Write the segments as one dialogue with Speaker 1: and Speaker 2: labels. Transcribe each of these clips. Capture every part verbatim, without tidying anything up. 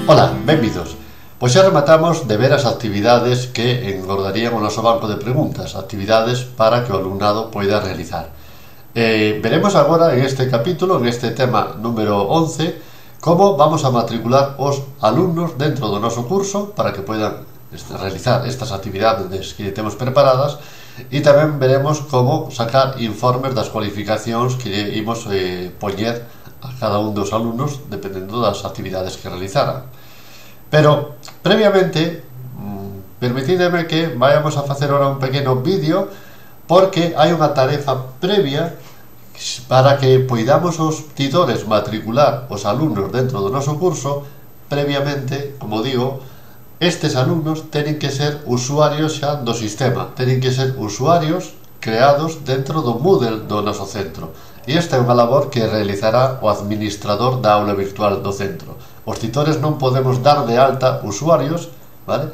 Speaker 1: Ola, benvidos. Pois xa rematamos de ver as actividades que engordarían o noso banco de preguntas, actividades para que o alumnado poida realizar. Eh, veremos agora en este capítulo, en este tema número once, como vamos a matricular os alumnos dentro do noso curso para que poidan realizar estas actividades que temos preparadas, e tamén veremos como sacar informes das cualificacións que imos eh, poñer a cada un dos alumnos dependendo das actividades que realizaran. Pero, previamente, permitideme que vayamos a facer ahora un pequeno vídeo porque hai unha tarefa previa para que poidamos os titores matricular os alumnos dentro do noso curso. Previamente, como digo, estes alumnos teñen que ser usuarios xa do sistema, teñen que ser usuarios creados dentro do Moodle do noso centro. E esta é unha labor que realizará o administrador da aula virtual do centro. Os titores non podemos dar de alta usuarios, vale?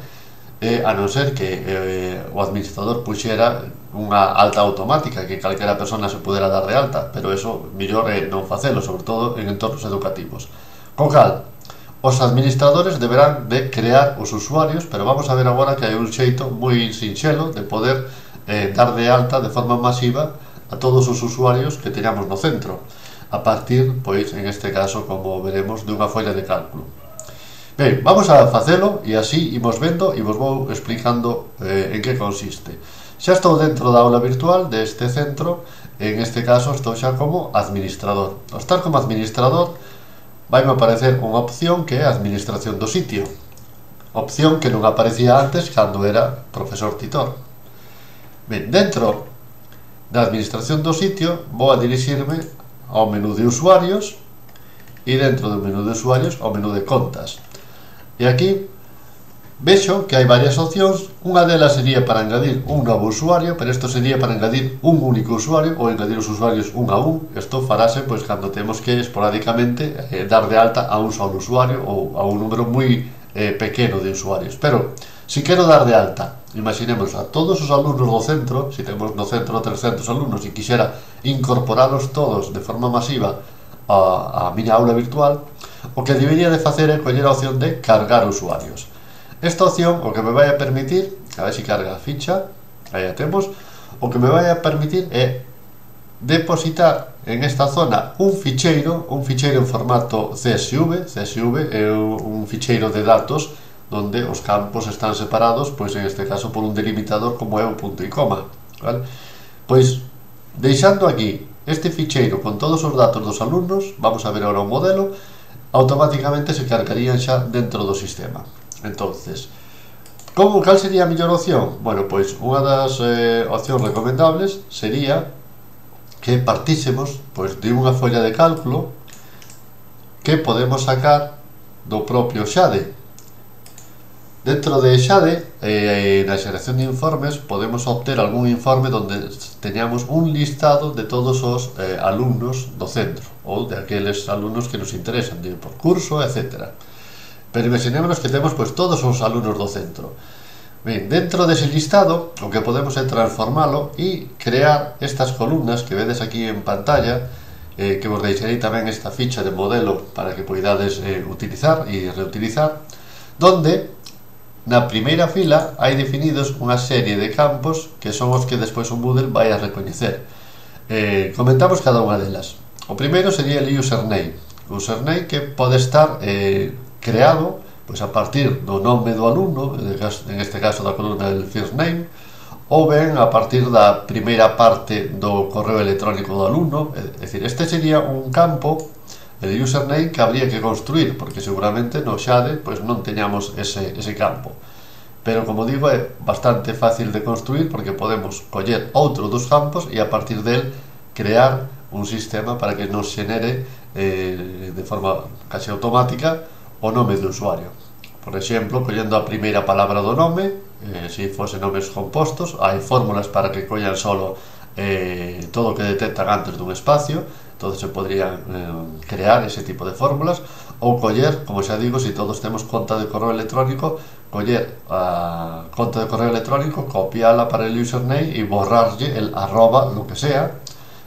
Speaker 1: Eh, a non ser que eh, o administrador puxera unha alta automática, que calquera persona se pudera dar de alta, pero eso mellor é non facelo, sobre todo en entornos educativos. Con cal, os administradores deberán de crear os usuarios, pero vamos a ver agora que hai un xeito moi sinxelo de poder eh, dar de alta de forma masiva a todos os usuarios que teñamos no centro, a partir, pois, en este caso, como veremos, dunha folla de cálculo. Ben, vamos a facelo e así imos vendo e vos vou explicando eh, en que consiste. Xa estou dentro da aula virtual deste centro, en este caso estou xa como administrador. Ao estar como administrador, vai me aparecer unha opción que é a administración do sitio, opción que non aparecía antes cando era profesor titor. Ben, dentro da administración do sitio vou a dirixirme ao menú de usuarios e dentro do menú de usuarios ao menú de contas. E aquí vexo que hai varias opcións. Unha delas sería para engadir un novo usuario, pero isto sería para engadir un único usuario ou engadir os usuarios un a un. Isto farase pois cando temos que esporádicamente eh, dar de alta a un solo usuario ou a un número moi eh, pequeno de usuarios. Pero se quero dar de alta, imaginemos a todos os alumnos do centro, se temos no centro trescentos alumnos e quixera incorporalos todos de forma masiva a, a miña aula virtual, o que debería de facer é coller a opción de cargar usuarios. Esta opción o que me vai a permitir, a ver se carga a ficha, aí a temos, o que me vai a permitir é depositar en esta zona un ficheiro, un ficheiro en formato C S V. C S V é un ficheiro de datos donde os campos están separados, pois en este caso por un delimitador como é o punto e coma, vale? Pois, deixando aquí este ficheiro con todos os datos dos alumnos, vamos a ver agora o modelo, automáticamente se cargarían xa dentro do sistema. Entonces, como, cal sería a mellor opción? Bueno, pois, unha das eh, opcións recomendables sería que partísemos pois, de unha folla de cálculo que podemos sacar do propio Xade. Dentro de Xade, eh, na xeración de informes, podemos obter algún informe donde teñamos un listado de todos os eh, alumnos do centro, ou de aqueles alumnos que nos interesan, de por curso, etcétera. Pero imaginémonos que temos pois, todos os alumnos do centro. Ben, dentro dese listado, o que podemos é transformalo e crear estas columnas que vedes aquí en pantalla, eh, que vos deixarei tamén esta ficha de modelo para que poidades eh, utilizar e reutilizar, donde na primeira fila hai definidos unha serie de campos que son os que despois o Moodle vai a recoñecer. Eh, comentamos cada unha delas. O primeiro sería el username. O username que pode estar eh, creado pois a partir do nome do alumno, en este caso da columna del first name, ou ben a partir da primeira parte do correo electrónico do alumno. É dicir, este sería un campo, el username, que habría que construir, porque seguramente no Xade pois non teñamos ese, ese campo. Pero, como digo, é bastante fácil de construir porque podemos coller outro dos campos e a partir del crear un sistema para que nos xenere eh, de forma casi automática o nome do usuario. Por exemplo, collendo a primeira palabra do nome, eh, se fose nomes compostos, hai fórmulas para que collan solo eh, todo o que detectan antes dun espacio, entonces se podrían eh, crear ese tipo de fórmulas, ou coller, como xa digo, se todos temos conta de correo electrónico, coller a conta de correo electrónico, copiala para el username e borrarlle el arroba, lo que sea,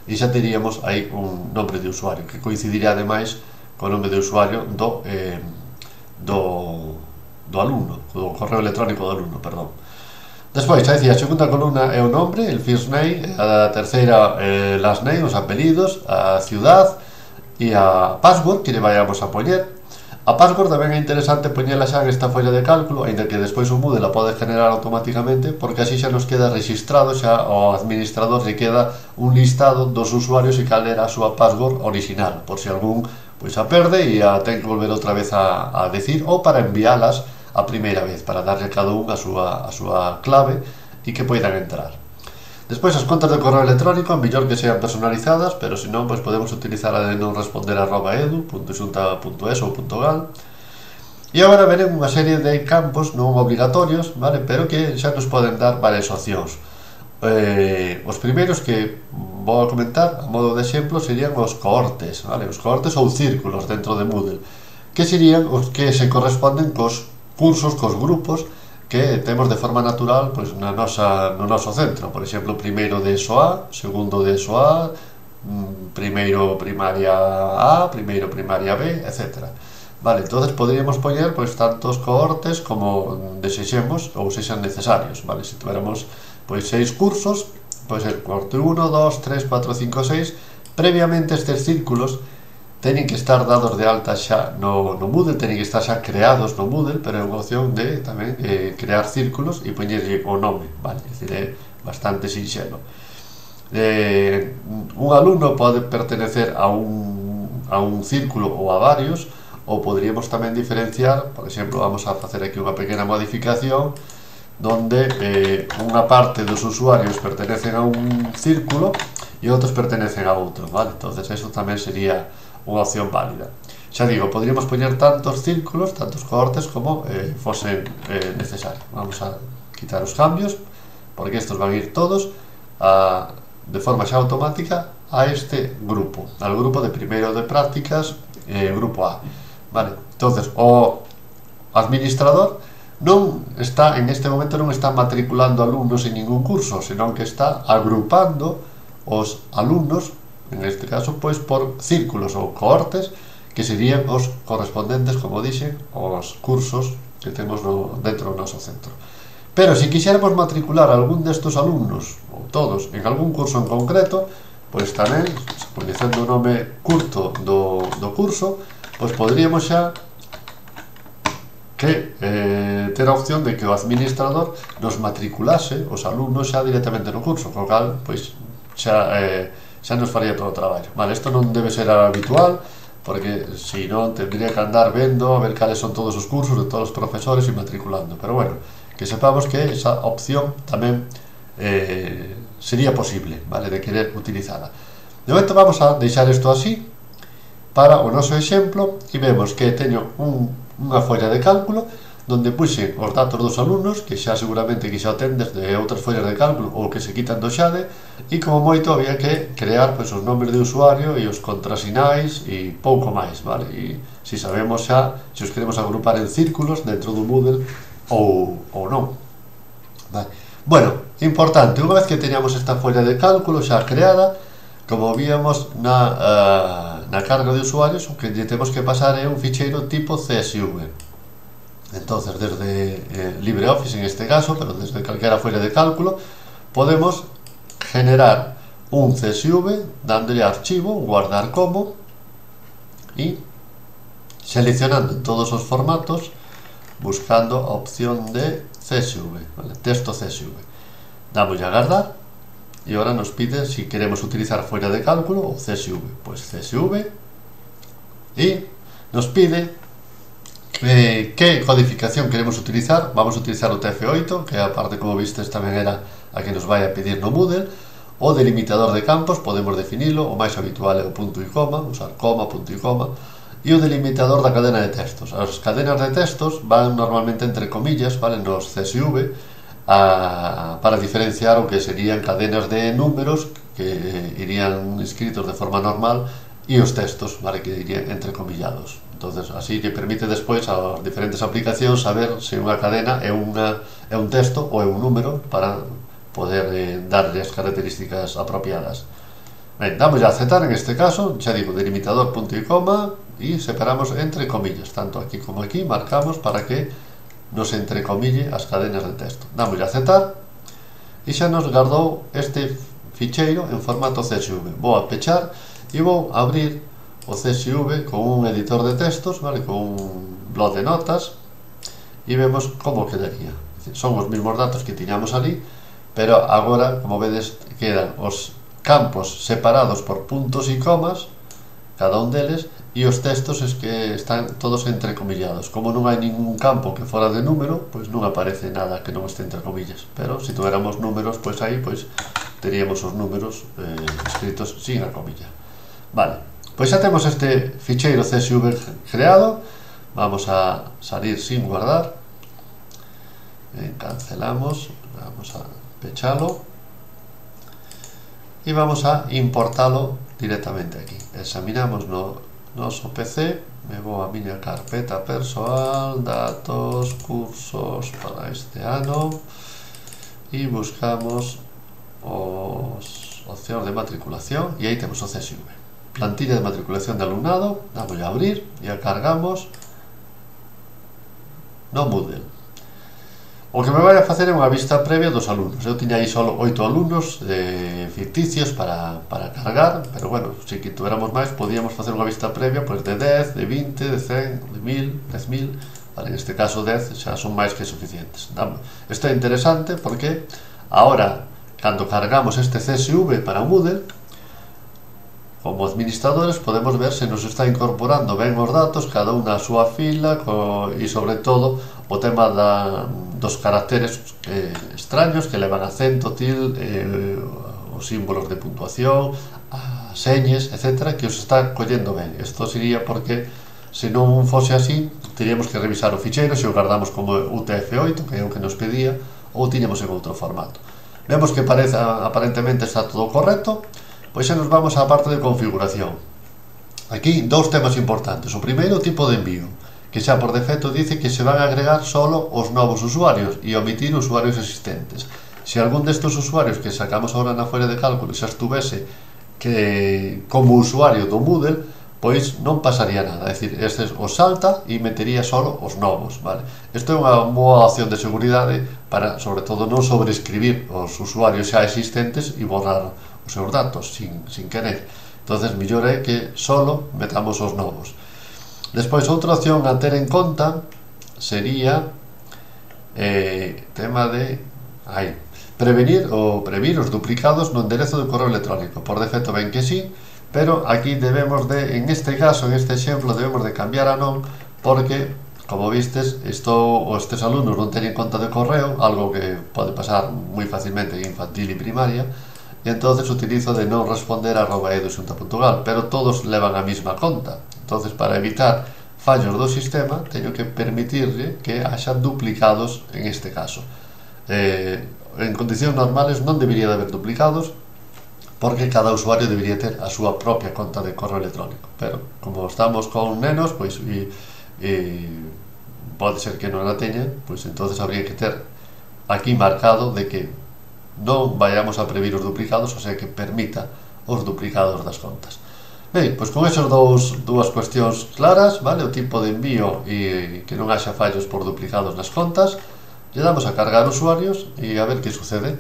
Speaker 1: e xa teríamos aí un nombre de usuario que coincidiría ademais co nome de usuario do, eh, do, do alumno, do correo electrónico do alumno, perdón. Despois, xa dicía, a segunda columna é o nombre, el first name, a terceira, eh, last name, os apelidos, a ciudad e a password que lle vayamos a poñer. A password tamén é interesante poñela xa en esta folla de cálculo, aínda que despois o Moodle la pode generar automáticamente, porque así xa nos queda registrado, xa ao administrador lle queda un listado dos usuarios e cal era a súa password original, por se algún pois a perde e a ten que volver outra vez a, a decir, ou para envialas a primeira vez, para darlle a cada un a súa, a súa clave e que poidan entrar. Despois, as contas de correo electrónico, mellor que sean personalizadas, pero se non, pois podemos utilizar a de non responder arroba edu punto xunta punto es ou .gal. E agora veremos unha serie de campos non obligatorios, vale, pero que xa nos poden dar varias opcións. Eh, os primeiros que vou a comentar, a modo de exemplo, serían os cohortes, vale, os cohortes ou círculos dentro de Moodle, que serían os que se corresponden cos cursos, cos grupos que temos de forma natural pois, na nosa, no noso centro. Por exemplo, primeiro de ESO A, segundo de ESO A, primeiro primaria A, primeiro primaria B, etcétera. Vale, entonces poderíamos poñer pois, tantos cohortes como desexemos ou sexan necesarios. Vale, se tuéramos pois, seis cursos, pois el cohorte uno, dos, tres, cuatro, cinco, seis, previamente estes círculos teñen que estar dados de alta xa no, no Moodle, teñen que estar xa creados no Moodle, pero é unha opción de tamén eh, crear círculos e poñerlle o nome, vale, é dicir, é bastante sinxelo. Eh, un alumno pode pertenecer a un, a un círculo ou a varios, ou poderíamos tamén diferenciar, por exemplo, vamos a facer aquí unha pequena modificación, donde eh, unha parte dos usuarios pertenecen a un círculo e outros pertenecen a outro, vale, entonces eso tamén sería unha opción válida. Xa digo, poderíamos poñer tantos círculos, tantos cohortes como eh, fosen eh, necesarios. Vamos a quitar os cambios, porque estos van a ir todos a, de forma xa automática a este grupo, al grupo de primeiro de prácticas, eh, grupo A. Vale, entonces o administrador non está, en este momento non está matriculando alumnos en ningún curso, senón que está agrupando os alumnos, en este caso, pois por círculos ou cohortes, que serían os correspondentes, como dixen, aos cursos que temos no, dentro do noso centro. Pero se quixéramos matricular algún destes alumnos, ou todos, en algún curso en concreto, pois tamén, coñecendo o nome curto do, do curso, pois poderíamos xa que eh, ter a opción de que o administrador nos matriculase os alumnos xa directamente no curso, co cal, pois, xa... Eh, xa nos faría todo o traballo. Vale, isto non debe ser habitual, porque se non tendría que andar vendo a ver cales son todos os cursos de todos os profesores e matriculando, pero bueno, que sepamos que esa opción tamén eh, sería posible, vale, de querer utilizala. De momento vamos a deixar isto así para o noso exemplo e vemos que teño un, unha folla de cálculo donde puxen os datos dos alumnos, que xa seguramente que xa tendes de outras follas de cálculo ou que se quitan do Xade, e como moito había que crear pois, os nombres de usuario e os contrasinais e pouco máis, vale? E se sabemos xa se os queremos agrupar en círculos dentro do Moodle ou, ou non. Vale. Bueno, importante, unha vez que teñamos esta folla de cálculo xa creada, como víamos na, uh, na carga de usuarios, o que lle temos que pasar é un ficheiro tipo C S V. Entonces, desde eh, LibreOffice en este caso, pero desde calquera folla de cálculo, podemos generar un C S V, dándole archivo, guardar como, y seleccionando en todos os formatos, buscando a opción de C S V, ¿vale? Texto C S V. Damos a guardar, y ahora nos pide si queremos utilizar folla de cálculo o C S V. Pues C S V, y nos pide Eh, que codificación queremos utilizar. Vamos a utilizar o T F oito, que a parte, como vistes, tamén era a que nos vai a pedir no Moodle. O delimitador de campos podemos definilo, o máis habitual é o punto e coma, usar coma, punto e coma. E o delimitador da cadena de textos. As cadenas de textos van normalmente entre comillas, vale, nos C S V, a, para diferenciar o que serían cadenas de números que irían escritos de forma normal e os textos, vale, que irían entrecomillados. Entonces, así que permite despois ás diferentes aplicacións saber se unha cadena é, unha, é un texto ou é un número para poder eh, darlle as características apropiadas. Ben, damos a aceptar en este caso, xa digo, delimitador punto e coma, e separamos entre comillas, tanto aquí como aquí, marcamos para que nos entrecomille as cadenas de texto. Damos a aceptar e xa nos guardou este ficheiro en formato C S V. Vou a pechar e vou abrir o C S V con un editor de textos, vale, con un blog de notas, e vemos como quedaría. Son os mesmos datos que tiñamos ali, pero agora, como vedes, quedan os campos separados por puntos e comas, cada un deles, e os textos es que están todos entrecomillados. Como non hai ningún campo que fora de número, pois non aparece nada que non este entre comillas, pero se tuéramos números, pois aí pois teríamos os números eh, escritos sin a comilla. Vale, pois xa temos este ficheiro C S V creado. Vamos a salir sin guardar, eh, cancelamos, vamos a pechalo e vamos a importalo directamente aquí. Examinamos no noso P C, me vou a miña carpeta persoal, datos, cursos para este ano, e buscamos os opcións de matriculación, e aí temos o C S V, plantilla de matriculación de alumnado. Damos a abrir e a cargamos no Moodle. O que me vai a facer é unha vista previa dos alumnos. Eu tiña aí só oito alumnos eh, ficticios para, para cargar, pero bueno, se que tuéramos máis, podíamos facer unha vista previa pois, de dez, de vinte, de cen, de mil, dez mil, vale, en este caso dez xa son máis que suficientes. Isto é interesante porque ahora, cando cargamos este C S V para o Moodle, como administradores podemos ver se nos está incorporando ben os datos, cada unha a súa fila, co, e sobre todo o tema da, dos caracteres eh, extraños que levan acento, til, eh, os símbolos de puntuación, as señas, etcétera, que os está collendo ben. Isto sería porque se non fose así, teríamos que revisar o ficheiro se o guardamos como U T F oito, que é o que nos pedía, ou tiñamos en outro formato. Vemos que parece, aparentemente está todo correcto. Pois xa nos vamos á parte de configuración. Aquí dous temas importantes. O primeiro, o tipo de envío, que xa por defecto dice que se van a agregar solo os novos usuarios e omitir usuarios existentes. Se algún destes usuarios que sacamos ahora na folla de cálculo xa estuvese que como usuario do Moodle, pois non pasaría nada. É dicir, estes os salta e metería solo os novos, vale? Isto é unha boa opción de seguridade para, sobre todo, non sobreescribir os usuarios xa existentes e borrar os seus datos sin, sin querer. Entonces, mellor é que solo metamos os novos. Despois, outra opción a ter en conta sería eh, tema de aí, prevenir ou previr os duplicados no enderezo de correo electrónico. Por defecto ven que sí, pero aquí debemos de, en este caso, en este exemplo, debemos de cambiar a non, porque, como vistes, isto, estes alumnos non teñen conta de correo, algo que pode pasar moi facilmente en infantil e primaria, e entonces utilizo de non responder arroba eduxunta punto gal, pero todos levan a mesma conta. Entonces, para evitar fallos do sistema, teño que permitirle que haxa duplicados en este caso. Eh, en condicións normales non debería de haber duplicados, porque cada usuario debería ter a súa propia conta de correo electrónico, pero como estamos con nenos, pois e, e pode ser que non a teña, pois entonces habría que ter aquí marcado de que non vayamos a previr os duplicados, o sea que permita os duplicados das contas. Ben, pois con esos dous, dúas cuestións claras, vale, o tipo de envío e que non haxa fallos por duplicados nas contas, lle damos a cargar usuarios e a ver que sucede.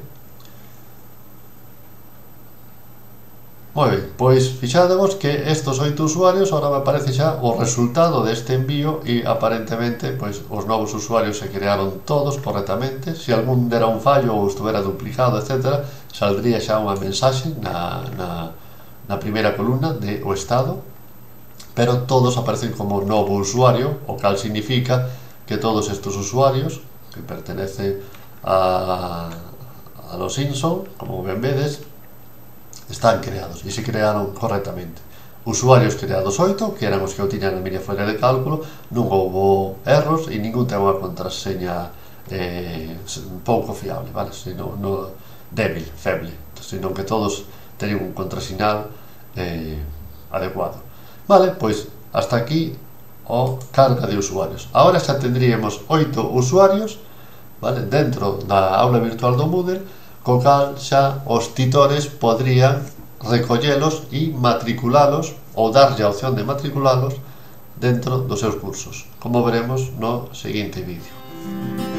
Speaker 1: Moi ben, pois fixadevos que estes oito usuarios agora me aparece xa o resultado deste envío e aparentemente pois os novos usuarios se crearon todos correctamente. Se algún dera un fallo ou estuvera duplicado, etcétera, saldría xa unha mensaxe na, na, na primeira columna de o estado, pero todos aparecen como novo usuario, o cal significa que todos estes usuarios que pertenecen a, a los Simpson, como ben vedes, están creados e se crearon correctamente. Usuarios creados oito, que eran os que eu tiña na miña folla de cálculo, non houbo erros e ningún ten unha contraseña eh, pouco fiable, vale? Sino, no, débil, feble, sino que todos teñen un contrasinal eh, adecuado. Vale, pois hasta aquí o carga de usuarios. Ahora xa tendríamos oito usuarios, vale, dentro da aula virtual do Moodle, co cal xa os titores podrían recollelos e matriculalos ou darlle a opción de matriculalos dentro dos seus cursos, como veremos no seguinte vídeo.